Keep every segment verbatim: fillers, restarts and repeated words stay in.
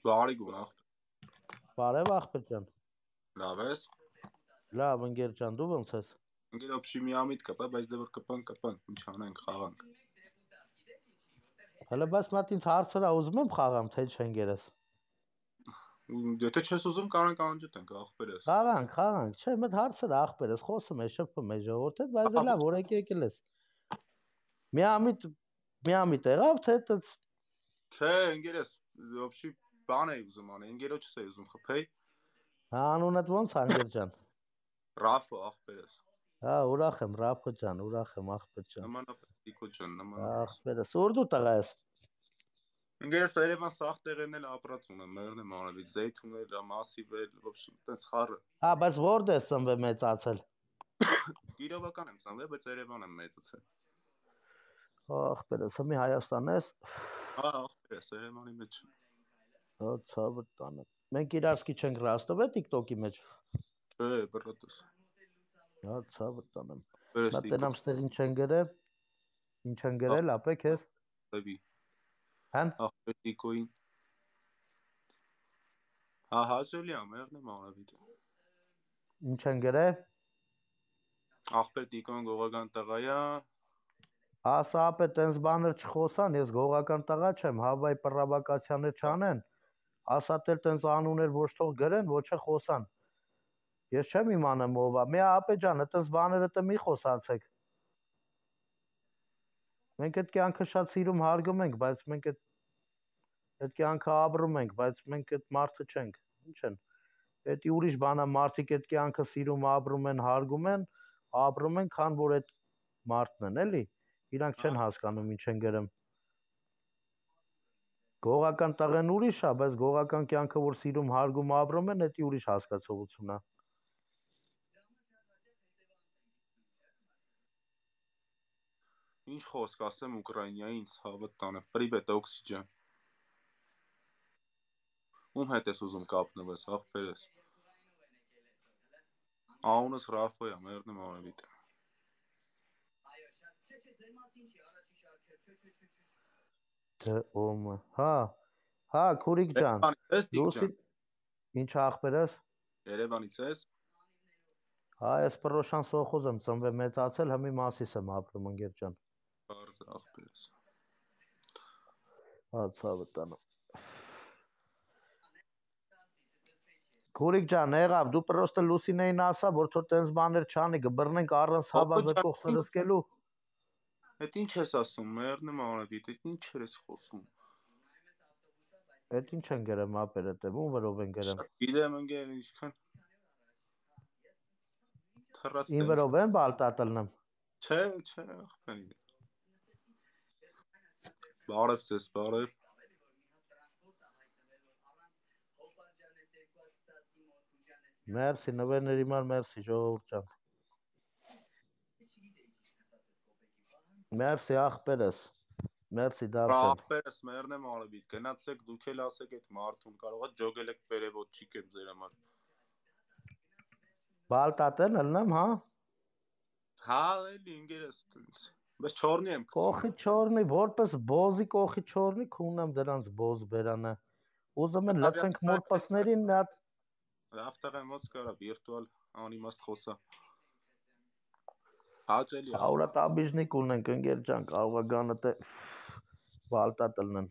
Բարի գուն աղբեր։ Բարև աղբեր ջան։ Լավ ես։ Լավ ընկեր ջան, դու ոնց ես։ Ընկեր օբշի միամիտ կպա, բայց դե որ կպան կպան, ինչ անենք խաղանք։ Հələ բայց մատ ինձ հարցրա ուզում եմ խաղամ, թե չընկերս։ Եթե չես ուզում կարանք անջատենք աղբերս։ Խաղանք, խաղանք, չէ, մտ հարցրա աղբերս, խոսում է, շփվում է ժողովուրդը, բայց դե լավ, օրեք եկել ես։ Միամիտ, միամիտ եղավ, թե այդպես։ Չէ, ընկերս, օբշի բան էի ուզում անել, ընկերոջս էի ուզում խփեի։ Հա, անունդ ոնց է ընկեր ջան։ Ռաֆո աղբերս։ Հա, ուրախ եմ, Ռաֆո ջան, ուրախ եմ աղբեր ջան։ Նմանապես Տիկո ջան, նմանապես։ Աղբերս, ուր դու տղա ես։ Ընկերս Երևան սաղ տեղերն էլ ապրած ունեմ, մեղն եմ արել, Զեյթունել, Մասիվել, ոբշի, տենց խառը։ Հա, բայց որտե՞ս ես ծնվել մեծացել։ Կիրովական եմ ծնվել, բայց Երևան եմ մեծացել։ Աղբերս, հիմի Հայաստան ես։ Հա, աղբերս Երևանի մեջ։ Հա, ցավը տանը։ Մենք իրարսկի չենք ռաստով է TikTok-ի մեջ։ Չէ, բռատես։ Հա, ցավը տանեմ։ Վերես Նա տենամ ստեղ ինչ են գրել։ Ինչ են գրել, ապեք ես։ Լեվի։ Հան։ Աղբեր Տիկոին։ Հա, հաճելի է, մեղն եմ արավիտ։ Ինչ են գրել։ Աղբեր Տիկոն գողական տղա է։ Ասա ապե տենց բաներ չխոսան, ես գողական տղա չեմ, հավայ պրավոկացիաներ չանեն։ Ասա տել տենց անուներ ոչ թող գրեն, ոչ է խոսան։ Ես չեմ իմանում ով է։ Մի ապե ջան, այտենց բաները տը մի խոսացեք։ Մենք այդ կյանքը շատ սիրում հարգում ենք, բայց մենք այդ այդ կյանքը ապրում ենք, բայց մենք այդ մարդը չենք։ Ինչ են։ Էդի ուրիշ բան է, մարդիկ այդ կյանքը սիրում, ապրում են, հարգում են, ապրում են, քան որ այդ մարդն են, էլի։ Իրանք չեն հասկանում ինչ են գրում։ Գողական տղեն ուրիշ է, բայց գողական կյանքը որ սիրում, հարգում, ապրում են, էդի ուրիշ հասկացողություն է։ Ինչ խոսք ասեմ Ուկրաինային ցավը տանը։ Պրիվետ օքսիջեն։ Ում հետ ես ուզում կապնվես, աղբերս։ Անունս Ռաֆո է, մեղն եմ արավիտ։ Դե ոմ։ Հա։ Հա, քուրիկ ջան։ Լուսի ինչ աղբերս։ Երևանից ես։ Հա, ես Պրոշան սոխոզ եմ ծնվել մեծացել, հիմի Մասիս եմ ապրում ընկեր ջան։ Բարձ աղբերս։ Հա, ցավը տանը։ Քուրիկ ջան, եղավ, դու պրոստը Լուսինեին ասա, որ թո տենց բաներ չանի, կբռնենք առանց հավազակող սրսկելու։ Էդ ինչ ես ասում, մեղն եմ արավիտ, էդ ինչ ես խոսում։ Էդ ինչ են գրում ապեր էդ, ում վրով են գրում։ Գիտեմ ընկեր ինչքան։ Ին վրով են բալտատլնեմ։ Չէ, չէ, աղբերի։ Բարև ձեզ, բարև։ Մերսի, նվերների մար մերսի, ժողովուրդ ջան։ Մերսի աղբերս։ Մերսի դավթ։ Աղբերս մերն եմ արավիտ, գնացեք դուք էլ ասեք այդ մարդուն, կարող է ջոգել եք պերևոջիկ եմ ձեր համար։ Բալտատեն ըլնեմ, հա։ Հա, էլի ընկերս տենց։ Բայց չորնի եմ գցում։ Կողի չորնի, որպես բոզի կողի չորնի, քունեմ դրանց բոզ բերանը։ Ուզում են լցենք մորպասներին մի հատ Լավ տղեմ ոնց կարա վիրտուալ անիմաստ խոսա։ Հաճելի է։ Աուրա տաբիժնիկ ունենք ընկեր ջան, կարող է գանը թե բալտատլնեն։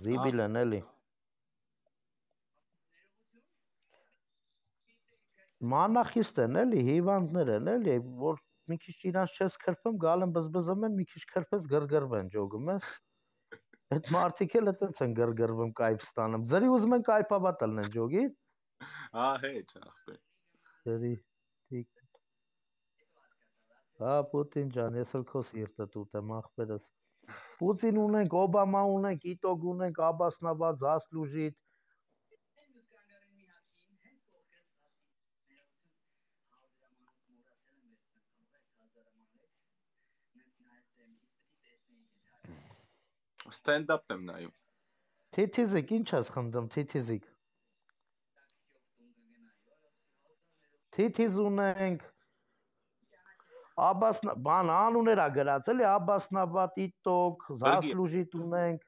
Զիբիլ են էլի։ Մանախիստ են էլի, հիվանդներ են էլի, որ մի քիչ իրանց չես քրփում, գալ են բզբզում են, մի քիչ քրփես գրգռվեն, ջոգում ես։ Այդ մարդիկ էլ այդպես են գրգռվում, կայֆ ստանում։ Ձրի ուզում են կայֆաբատ ելնեն ջոգի։ Հա, հեչ ախպեր։ Ձրի տիկ։ Հա, Պուտին ջան, ես էլ քո սիրտը տուտեմ ախպերս։ Պուտին ունենք, Օբամա ունենք, Իտոգ ունենք, Աբասնաբադ, Զասլուժիտ։ Ստենդափ եմ նայում։ Թիթիզիկ, ինչ ես խնդրում, թիթիզիկ։ Թիթիզ ունենք։ Աբասնա, բան անուներ ա գրած, էլի Աբասնաբադ, Իտոգ, Զասլուժիտ ունենք։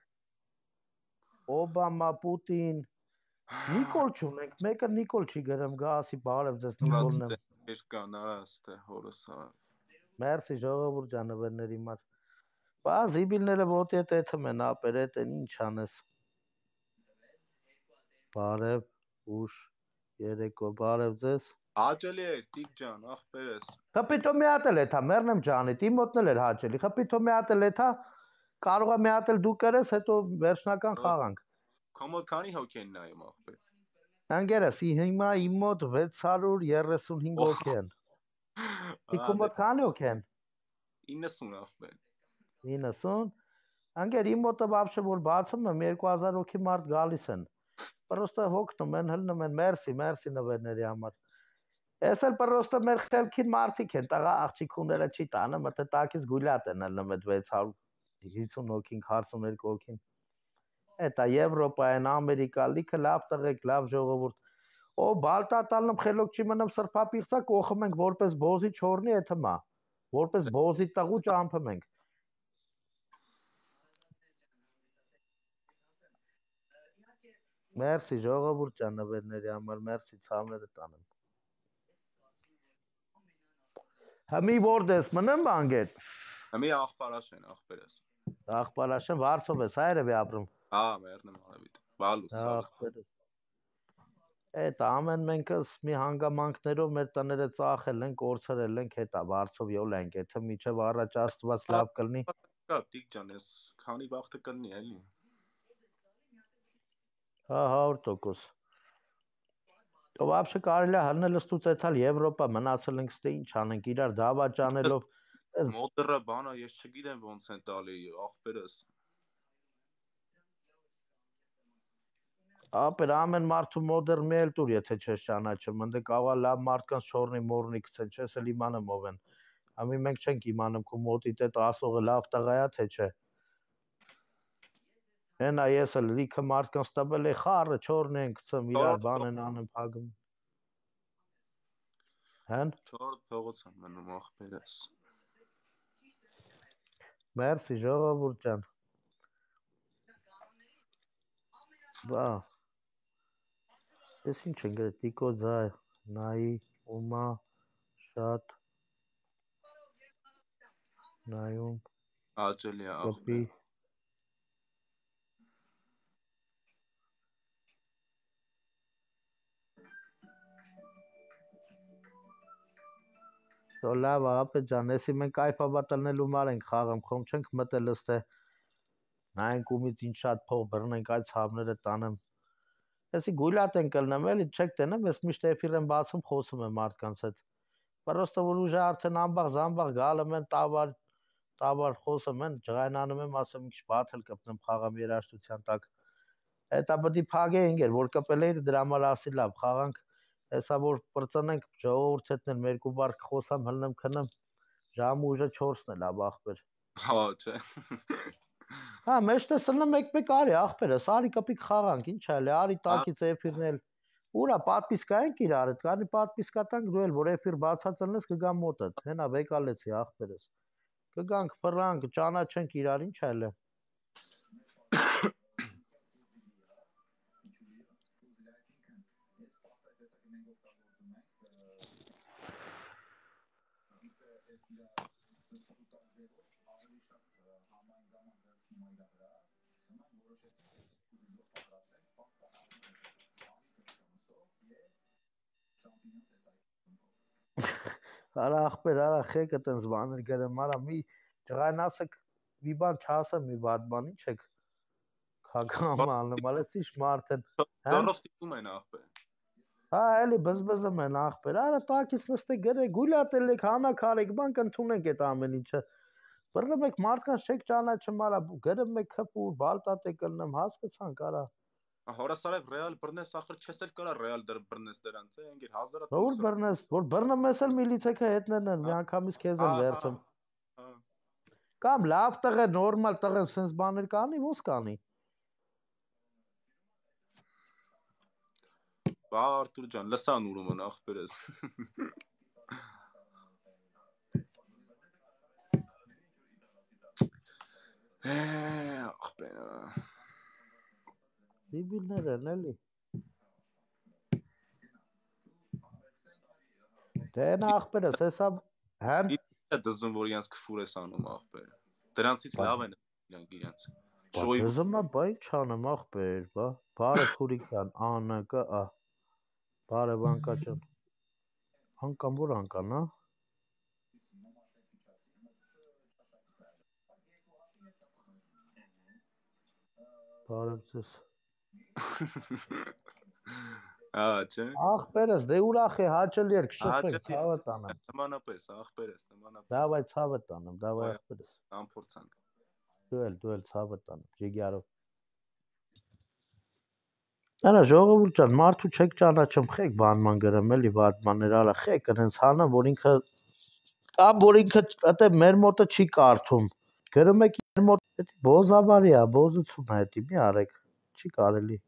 Օբամա, Պուտին, Նիկոլ չունենք, մեկը Նիկոլ չի գրեմ, գա ասի բարև ձեզ Նիկոլն եմ։ Երկան արաստը հորս ավ։ Մերսի ժողովուրդ ջանավերների մար։ Բա զիբիլները ոտի հետ էթում են ապեր էտ են ինչ անես։ Բարև, ուշ, երեկո, բարև ձեզ։ Հաճելի էր, տիկ ջան, ախպերես։ Խպիտո մի հատ էլ էթա, մերնեմ ջանիտ, իմ մոտն էլ էր հաճելի, խպիտո մի հատ էլ էթա, կարող է մի հատ էլ դու կրես, հետո վերջնական խաղանք։ Կոմոդ քանի հոգի են նայում ախպեր։ Անգերս, հիմա իմ մոտ վեց հարյուր երեսունհինգ հոգի են։ Իքումոտ քանի հոգի են։ իննսուն ախպեր։ իննսուն։ Անգեր իմ մոտը բաբշե որ բացում եմ երկու հազար հոգի մարդ գալիս են։ Պրոստը հոգնում են, հլնում են, մերսի, մերսի նվերների համար։ Ես էլ պրոստը մեր խելքին մարդիկ են, տղա աղջիկուները չի տանը, մտը տակից գուլյատ են հլնում այդ վեց հարյուր հիսուն հոգին, քառասունյոթ հոգին։ Էտա Եվրոպա են, Ամերիկա, լիքը լավ տղեկ, լավ ժողովուրդ։ Օ բալտատալնում խելոք չի մնում սրբապիղծակ օխում ենք որպես բոզի չորնի էթմա։ Որպես բոզի տղու ճամփում ենք։ Մերսի ժողովուրդ ջանավերների համար, մերսի ցավները տանեմ։ Համի որդես մնեմ բանգետ։ Համի աղբարաշ են, աղբերես։ Աղբարաշը Վարշով ես, հայրևի ապրում։ Հա, մերնեմ արևիտ։ Բալուս։ Աղբերես։ Էդ ամեն մենքս մի հանգամանքներով մեր տները ծախել ենք, կորցրել ենք, հետա Վարշով յոլ ենք, եթե միջև առաջ Աստված լավ կլինի։ Կա տիկ ջան, ես քանի վաղտը կլինի էլի։ Հա, հարյուր տոկոս։ Ո вообще կարելի է հլնել ստուց էթալ Եվրոպա մնացել ենք ստե ինչ անենք իրար դավաճ անելով մոդերը բանա ես չգիտեմ ոնց են տալի ախպերս ապեր ամեն մարդու մոդեր մի էլ տուր եթե չես ճանաչում ընդ կավա լավ մարդկանց չորնի մորնի քցեն չես էլ իմանամ ով են ամի մենք չենք իմանում քո մոտիդ այդ ասողը լավ տղայա թե չէ հենա ես էլ լիքը մարդկանց տվել է խառը չորնի են քցում իրար բան են անում փագում Հեն չորրորդ փողոց եմ մնում ախպերս Մերսի ժողովուրդ ջան Բա Ես ինչ են գրել տիկո ձայ նայի ումա շատ նայում աջելի ախպեր Լավ ապե ջան, էսի մենք այփաբատալնելու մար ենք խաղում, խոմ չենք մտել ըստե նայենք ումից ինչ շատ փող բռնենք այդ ցավները տանեմ։ Էսի գուլյատ են կլնեմ էլի, չեք տենեմ, ես միշտ էֆիր եմ բացում, խոսում եմ մարդկանց հետ։ Պրոստը որ ուժը արդեն ամբաղ զամբաղ գալում են տավար, տավար խոսում են, ջղայնանում եմ, ասում ինչ բաթել կպնեմ խաղամ երաժշտության տակ։ Հետա պետք է փագեինք, որ կպել էի դրա համար ասի լավ, խաղանք Հեսա որ պրծնենք ժողովուրդ հետն էլ երկու բար խոսամ հլնեմ քնեմ ժամը ուժը չորսն էլ ավ ախպեր Հա չէ Հա մեջտե սլնեմ մեկ-մեկ արի ախպերը սարի կպիկ խաղանք ինչ այլ արի տակից էֆիրն էլ ուրա պատպիսկա ենք իրար հետ կանի պատպիսկա տանք դու էլ որ էֆիր բացած լնես կգամ մոտդ հենա վեկալեցի ախպերս կգանք ֆրանկ ճանաչենք իրար ինչ այլ է Արա ախպեր արա խեկը տենց բաներ գրեմ արա մի ջղայնասեք մի բան չասեմ մի բադ բան ինչ եք քագամ անում ալես ինչ մարդ են դորոստիկում են ախպեր Հա էլի բզբզում են ախպեր արա տակից նստե գրե գուլյատել եք հանաքարեք բան կընդունենք այդ ամեն ինչը բռնում եք մարդկանց չեք ճանաչում արա գրում եք քփուր բալտատ եք լնեմ հասկացանք արա Հորասարև ռեալ բռնես ախր չես էլ կարա ռեալ դր բռնես դրանց է ընկեր հազարը Որ բռնես որ բռնում ես էլ միլիցեքը հետներն են մի անգամից քեզ են վերցում Կամ լավ տղե նորմալ տղե sense բաներ կանի ոնց կանի Բա Արտուր ջան լսան ուրում են ախպերս Է ախպերը Դիբիլներ են էլի։ Դե նա աղբերս, հեսա հեն Է դզում, որ իրենց քֆուր ես անում աղբերը։ Դրանցից լավ են իրանք իրենց։ Շոյի դզում է, բա ինչ անեմ աղբեր, բա։ Բարև Խուրիկյան, ան կա, ա։ Բարև անկաճան։ Անկան որ անկան, հա։ Բարև ձեզ։ Ահա, չէ։ Աղբերս, դե ուրախ է, հաճելի էր, կշփվենք, ցավը տանեմ։ Նմանապես, աղբերս, նմանապես։ Դավայ ցավը տանեմ, դավայ աղբերս։ Անփորձանք։ Դու էլ, դու էլ ցավը տանեմ, ջիգարով։ Արա ժողովուրդ ջան, մարդու չեք ճանաչում, խեք բանման գրեմ էլի վարդմաններ արա, խեք այնց հանեմ, որ ինքը կամ որ ինքը այդե մեր մոտը չի կարդում։ Գրում եք մեր մոտ, դա բոզավարի է, բոզություն է, դա մի արեք, չի կարելի։